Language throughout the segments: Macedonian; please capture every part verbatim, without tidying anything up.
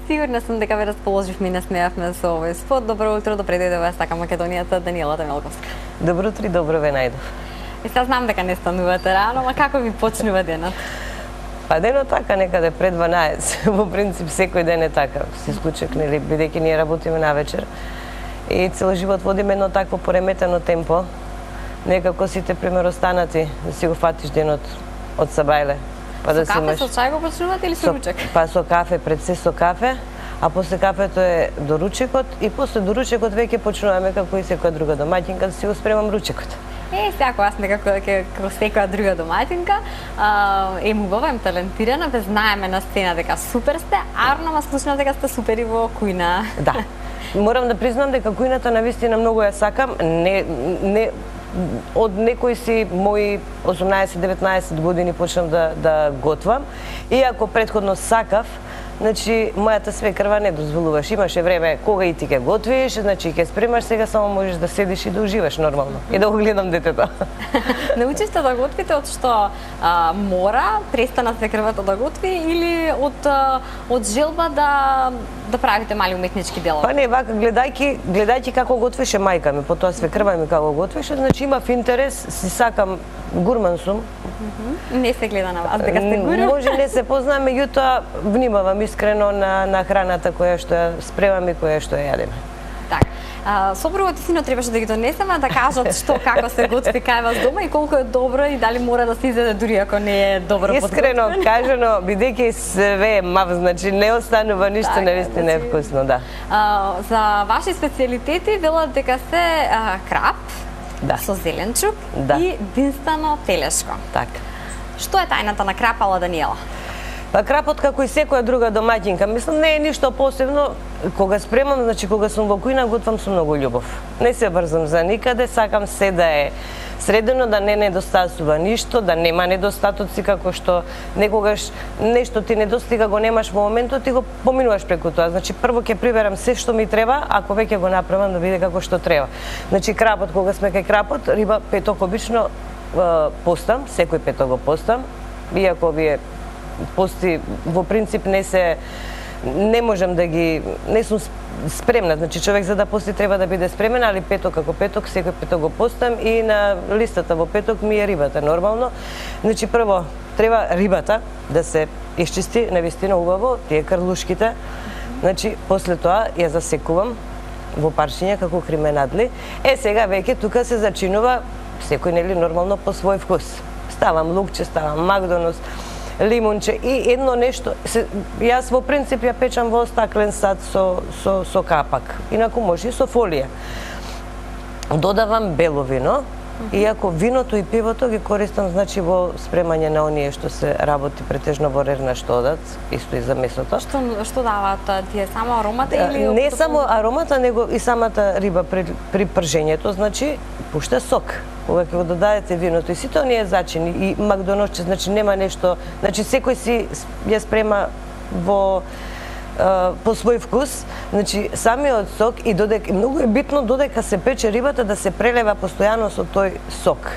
Сигурна сум дека ве расположивме и насмеавме со овој спот. Добро утро, добре дојдове Сака Македонијата, Даниела Темелковска. Добро утро и добро ве најдов. И сега знам дека не станувате рано, ама како ви почнува денот? Па денот така некаде пред дванаесет. Во принцип секој ден е така, се исклучок, нели, бидејќи ние работиме навечер. И цел живот водиме едно такво пореметено темпо. Некако сите пример останати да си го фатиш денот од сабајле. Па да со кафе, со чај го почнувате или со ручек? Па со кафе, пред се со кафе, а после кафето е до ручекот и после до ручекот веќе почнуваме како и секоја друга домаќинка да си го спремам ручекот. Е, сега јас некако дека како секоја друга домаќинка, е убава, ем талентирана, ве знаеме на сцена дека супер сте, арно ма слушнав дека сте супер и во кујна. Да. Морам да признам дека кујната навистина многу ја сакам, не не од некои си мои осумнаесет-деветнаесет години почнав да да готвам, иако претходно сакав. Значи, мојата свекрва не дозволуваш. Имаше време кога и ти ќе готвиш, значи ќе спремаш, сега само можеш да седиш и да уживаш нормално. И да го гледам детето. Научивте да готвите од што а, мора, престана свекрвата да готви или од а, од желба да да правите мали уметнички дела? Па не, вака гледајќи, гледајќи како готвеше мајка ми, потоа свекрва ми како готвеше, значи имав интерес, си сакам, гурман сум. Mm -hmm. Не се гледа на вас дека сте гурман. Може не се познам, меѓутоа внимавам искрено на на храната која што ја спремам и која што ја јадеме. Така. Сопругот и синот требаше да ги донесеме да кажат што како се готви кај вас дома и колку е добро и дали мора да се изеде дури ако не е добро подготвено. Искрено кажано, бидејќи све е мав, значи не останува ништо, така, навистина значи, е вкусно, да. А, за ваши специјалитети велат дека се а, крап, да, со зеленчук да, и динстано телешко. Така. Што е тајната на крапала, Даниела? Па крапот како и секоја друга домаќинка, мислам не е ништо посебно. Кога спремам, значи кога сум во кујна, готвам со многу љубов. Не се брзам за никаде, сакам се да е средено, да не недостасува ништо, да нема недостатоци како што некогаш нешто ти недостига, го немаш во моментот и го поминуваш преку тоа. Значи прво ќе приберам се што ми треба, ако веќе го направам да биде како што треба. Значи крапот, кога сме кај крапот, риба петок обично постам, секој петок го постам, иако вие пости во принцип не се не можам да ги не сум спремна, значи човек за да пости треба да биде спремен, али петок како петок секој петок го постам и на листата во петок ми е рибата нормално. Значи прво треба рибата да се исчисти навистина убаво, тие крлушките. Значи после тоа ја засекувам во парчиња како кременадли. Е сега веќе тука се зачинува секој нели нормално по свој вкус. Ставам лукче, ставам макдонос, лимунче и едно нешто, се, јас во принцип ја печам во стаклен сад со, со, со капак, инаку може и со фолија. Додавам бело вино, иако виното и пивото ги користам значи во спремање на оние што се работи претежно во рерна што одат, исто и за месото. Што што даваат тие, само аромата или не само аромата, него и самата риба при, при пржењето, значи пушта сок. Кога ќе го додадете виното и сите оние зачини и макдоносче, значи нема нешто, значи секој си ја спрема во по свој вкус, значи самиот сок и додека многу е битно додека се пече рибата да се прелева постојано со тој сок.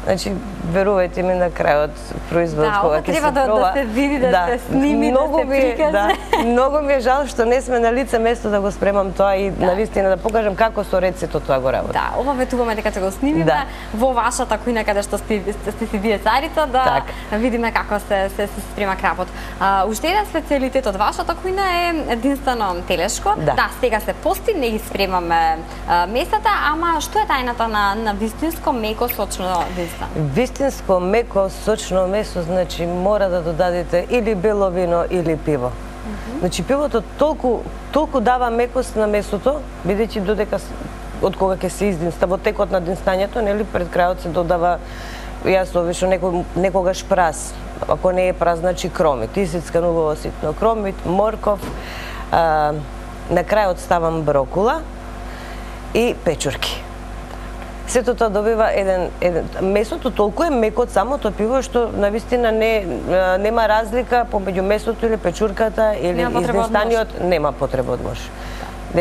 Значи, верувајте ми на крајот производот да, кога ќе се да, проба. Да се види, да, да се сними, многу да се прикаже. Да, многу ми е жал што не сме на лице место да го спремам тоа и да, навистина да покажам како со рецето тоа го работи. Да, ова ветуваме дека ќе го снимиме да, во вашата кујна каде што сте, сте си вие царица да так, видиме како се се, се спрема крапот. А, уште еден специјалитет од вашата кујна е единствено телешко. Да, да сега се пости, не ги спремаме а, месата, ама што е тајната на на вистинско меко сочно динстано? Вистинско меко сочно месо, значи мора да додадете или бело вино или пиво. Mm -hmm. Значи пивото толку толку дава мекост на месото, бидејќи додека од кога ќе се издинста во текот на динстањето, нели пред крајот се додава, јас обично некој некогаш прас, ако не е прас, значи кромит, исицкан убаво ситно кромит, морков, а, на крајот ставам брокула и печурки. Сето тоа добива еден, еден месото толку е меко од самото пиво што навистина не нема разлика помеѓу месото или печурката или издинстаниот, нема потреба од нож.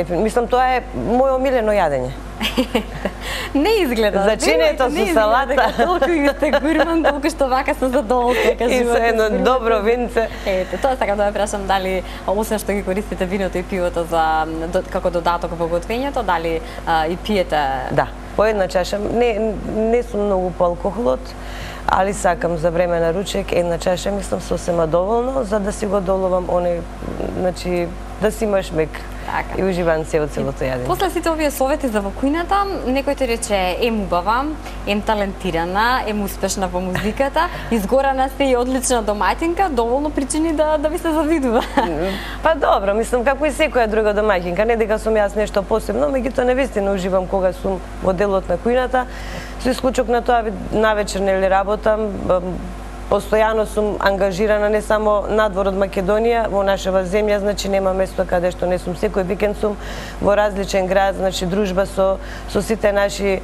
Мислам тоа е моје омилено јадење. Не изгледа. Зачинето со салата. Толку и сте гурман, толку што вака со задоволство кажувате. И со едно добро винце. Ете, тоа сакам да ве прашам дали освен што ги користите виното и пивото за како додаток во готвењето, дали а, и пиете? Да, по една чаша. Не не сум многу по алкохолот, али сакам за време на ручек една чаша, мислам сосема доволно за да си го доловам оне, значи да си имаш мек. Така. И уживам се од целото јадење. После сите овие совети за во кујната, некој ти рече ем убава, ем талентирана, ем успешна во музиката, изгорана сте и одлична домаќинка, доволно причини да да ви се завидува. Па добро, мислам како и секоја друга домаќинка, не дека сум јас нешто посебно, меѓутоа навистина уживам кога сум во делот на кујната. Со исклучок на тоа навечер нели работам, постојано сум ангажирана не само надвор од Македонија, во нашава земја, значи нема место каде што не сум. Секој викенд сум во различен град, значи дружба со со сите наши е,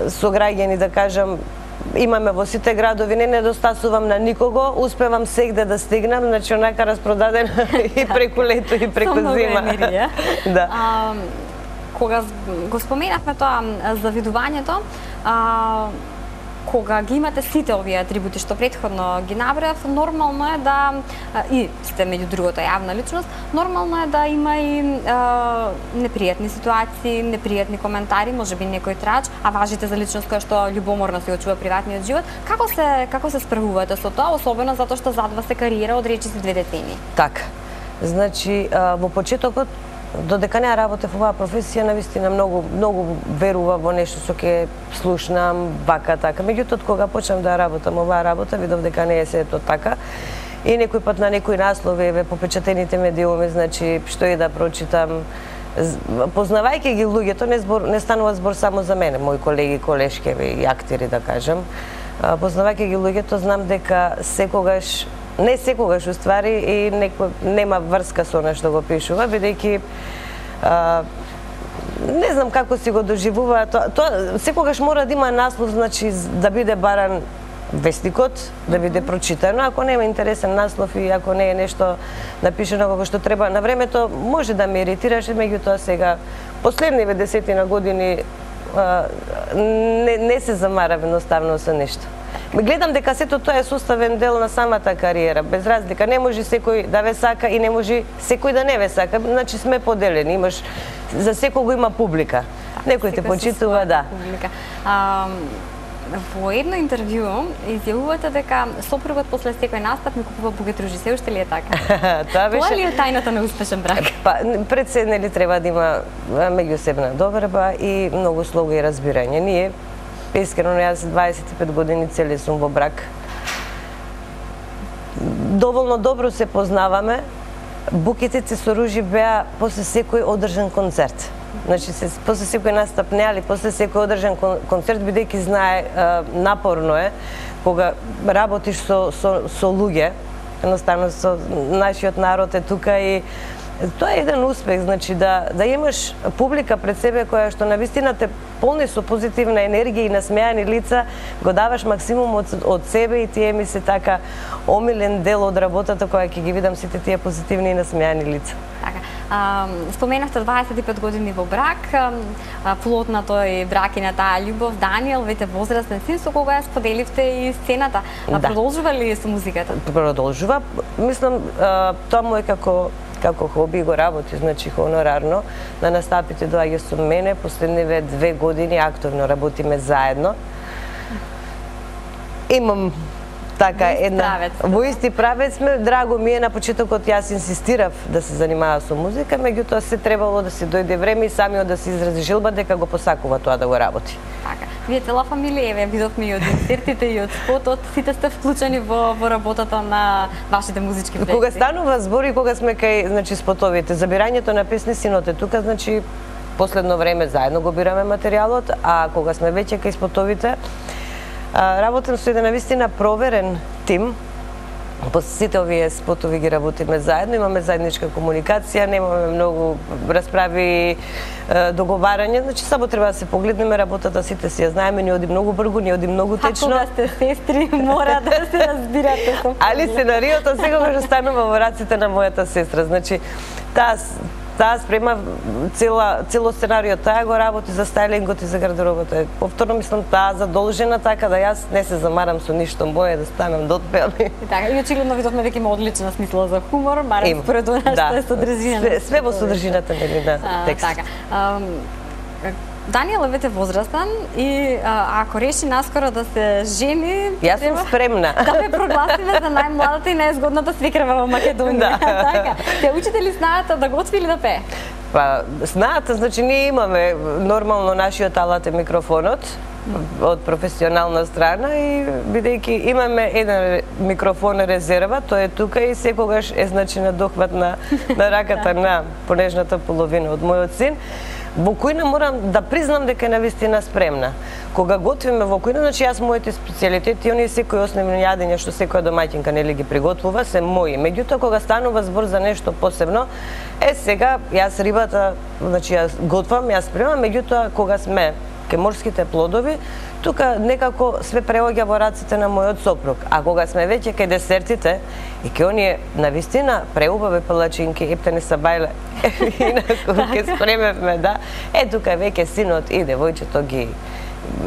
сограѓани, да кажам, имаме во сите градови, не недостасувам на никого, успевам сегде да стигнам, значи онака распродаден и преку лето и преку зима. Да. А, кога го споменавме тоа завидувањето, а, кога ги имате сите овие атрибути што претходно ги набројав, нормално е да и сте меѓу другото јавна личност, нормално е да има и е, непријатни ситуации, непријатни коментари, можеби некој трач, а важите за личност која што љубоморно се очува приватниот живот. Како се како се справувате со тоа, особено затоа што зад вас е кариера од речиси две децени? Така. Значи, во почетокот додека не работев оваа професија, навистина многу многу верува во нешто што ќе слушнам, вака така. Меѓутоа кога почнав да работам оваа работа, видов дека не е сето така. И некој пат на некои наслови еве по печатените медиуми, значи што и да прочитам, познавајќи ги луѓето, не збор не станува збор само за мене, мои колеги, колешки и актери да кажам. Познавајќи ги луѓето, знам дека секогаш не секогаш уствари и некој нема врска со она што го пишува, бидејќи не знам како си го доживува тоа, тоа секогаш мора да има наслов, значи да биде баран вестникот, да биде прочитано. Ако нема интересен наслов и ако не е нешто напишано како што треба на времето, може да ме иритираше, меѓутоа сега последниве десетина години не, не се замарав едноставно со нешто. Гледам дека сето тоа е составен дел на самата кариера, без разлика. Не може секој да ве сака и не може секој да не ве сака. Значи сме поделени, имаш за секого има публика. Некој те почитува, да. А, во едно интервју изјавувате дека сопругот после секој настап ми купува бугетружи. Се уште ли е така? Тоа беше... Тоа ли е тајната на успешен брак? Па, пред се нели треба да има меѓусебна добрба и многу слога и разбирање. Ние искрено, јас дваесет и пет години цели сум во брак. Доволно добро се познаваме. Букетите со ружи беа после секој одржан концерт. Значи, се, после секој настап не, али после секој одржан концерт, бидејќи знае, напорно е, кога работиш со, со, со луѓе, едноставно со нашиот народ е тука и тоа е еден успех, значи да да имаш публика пред себе која што навистина те полни со позитивна енергија и насмеани лица, го даваш максимум од, од себе и тие ми се така омилен дел од работата која ќе ги видам сите тие позитивни и насмеани лица. Така. А, споменавте дваесет и пет години во брак, а, плод на тој брак и на таа љубов, Даниел, вете возрастен син, со кога ја споделивте и сцената. А да. Продолжува ли со музиката? Продолжува. Мислам, а, тоа му е како како хоби го работи, значи хонорарно. На настапите доаѓа со мене, последниве две години активно работиме заедно. Имам така една во исти правец сме, драго ми е, на почетокот јас инсистирав да се занимава со музика, меѓутоа се требало да се дојде време и самиот да се изрази желба дека го посакува тоа да го работи. Така. Вие цела фамилија, еве видовме и од инсертите и од спотот, сите сте вклучени во во работата на вашите музички проекти. Кога станува збор и кога сме кај, значи, спотовите, забирањето на песни, синот е тука, значи последно време заедно го бираме материјалот, а кога сме веќе кај спотовите, работам со еден навистина проверен тим. По сите овие спотови ги работиме заедно, имаме заедничка комуникација, немаме многу расправи, договарање, значи само треба да се погледнеме работата, сите си ја знаеме, ни оди многу бргу, ни оди многу течно. Ако да сте сестри, мора да се разбирате со. Али сценариото секогаш останува во раците на мојата сестра, значи таа таа спрема цела цело сценарио, таа го работи за стајлингот и за гардеробата. Повторно мислам таа задолжена, така да јас не се замарам со ништо, боја да станам дотпеам. И така, и очигледно видовме дека има одлична смисла за хумор, барем според она што е содржината. Све, све во содржината нели на текст. Така. Даниел е вете возрастен и а, ако реши наскоро да се жени, јас сум спремна. Да ве прогласиме за најмладата и најзгодната свекрва во Македонија. Да. Така. Те учите ли знаат да готви или да пее? Па, знаат, значи ние имаме нормално нашиот алат е микрофонот од професионална страна и бидејќи имаме еден микрофон резерва, тој е тука и секогаш е значи на дохват на, на раката на понежната половина од мојот син. Во кујна морам да признам дека е навистина спремна. Кога готвиме во кујна, значи јас моите специјалитети, оние секои основни јадења што секоја домаќинка нели ги приготвува се мои. Меѓутоа кога станува збор за нешто посебно, е сега јас рибата, значи јас готвам, јас спремам, меѓутоа кога сме ке морските плодови, тука некако све преоѓа во раците на мојот сопруг. А кога сме веќе кај десертите и ке оние навистина преубави палачинки, ептени сабајле, инаку ке спремевме, да, е тука веќе синот и девојчето ги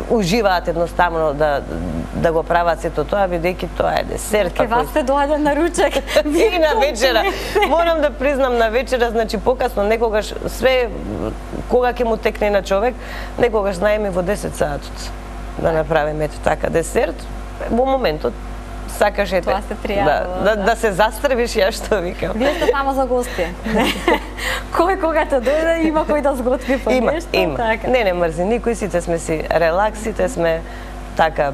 уживаат едноставно да да го прават сето тоа, бидејќи тоа е десерт. Ке вас се доаѓа на ручек. И на вечера. Морам да признам на вечера, значи покасно некогаш све кога ќе му текне на човек, некогаш знаеме во десет саатот да направиме ето така десерт. Во моментот сакаш ете. Тоа се пријавува. Да, да, да се застрбиш, ја што викам. Вие сте само за гости. Кој кога те дојде има кој да сготви по има, нешто, има. така. Не, не мрзи никој, сите сме си релакс, сите сме така.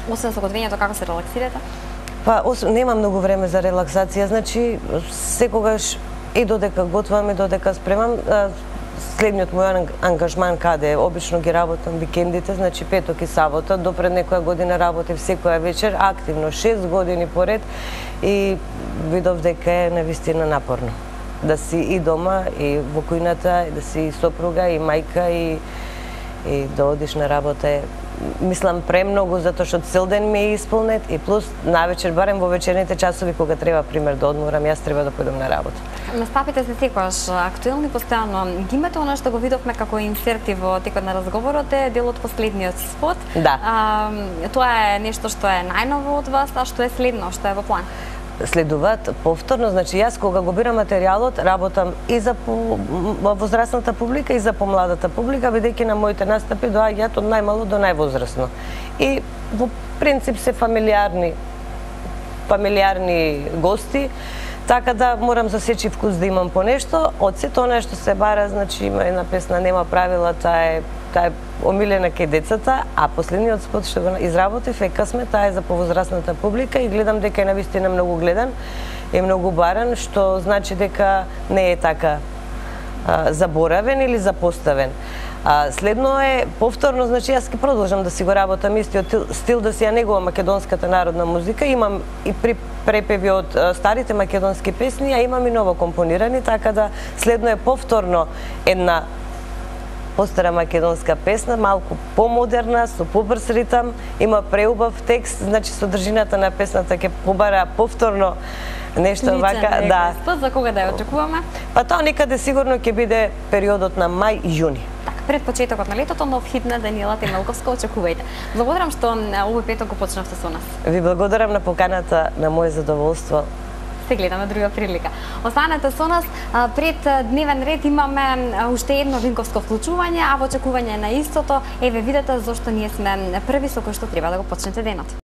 Освен со готвењето, како се релаксирате? Па, освен, нема многу време за релаксација, значи секогаш и додека готвам и додека спремам, следниот мој ангажман каде обично ги работам викендите, значи петок и сабота, до пред некоја година работев секоја вечер активно шест години поред и видов дека е навистина напорно. Да си и дома и во кујната, да си и сопруга и мајка и и да одиш на работа е мислам премногу затоа што цел ден ми е исполнет и плюс навечер барем во вечерните часови кога треба пример да одморам, јас треба да појдам на работа. Настапите се секогаш актуелни постојано. Ги имате она што го видовме како инсерти во текот на разговорот е дел од последниот спот. Да. А, тоа е нешто што е најново од вас, а што е следно, што е во план? Следуваат повторно, значи јас кога го бирам материјалот, работам и за по, возрастната публика и за помладата публика, бидејќи на моите настапи доаѓаат од најмало до највозрасно. И во принцип се фамилиарни фамилиарни гости, така да морам за сечи вкус да имам по нешто. Од сето она што се бара, значи има една песна Нема правила, таа е таа е омилена кај децата, а последниот спот што го изработив е Късме, таа е за повозрастната публика и гледам дека е навистина многу гледан и многу баран, што значи дека не е така а, заборавен или запоставен. А, следно е повторно, значи јас ќе продолжам да си го работам истиот стил, да си ја негувам македонската народна музика, имам и при препеви од а, старите македонски песни, а имам и ново компонирани, така да следно е повторно една постара македонска песна, малку помодерна, со побрз ритам, има преубав текст, значи содржината на песната ќе побара повторно нешто вака, да. Спот за кога да ја очекуваме? Па тоа некаде сигурно ќе биде периодот на мај-јуни. Така, пред почетокот на летото, нов хит на Даниела Темелковска, очекувајте. Благодарам што овој петок го почнавте со нас. Ви благодарам на поканата, на моје задоволство. Се гледаме друга прилика. Останете со нас, пред дневен ред имаме уште едно Винковско вклучување, а во очекување на истото, еве видете зошто ние сме први со кој што треба да го почнете денот.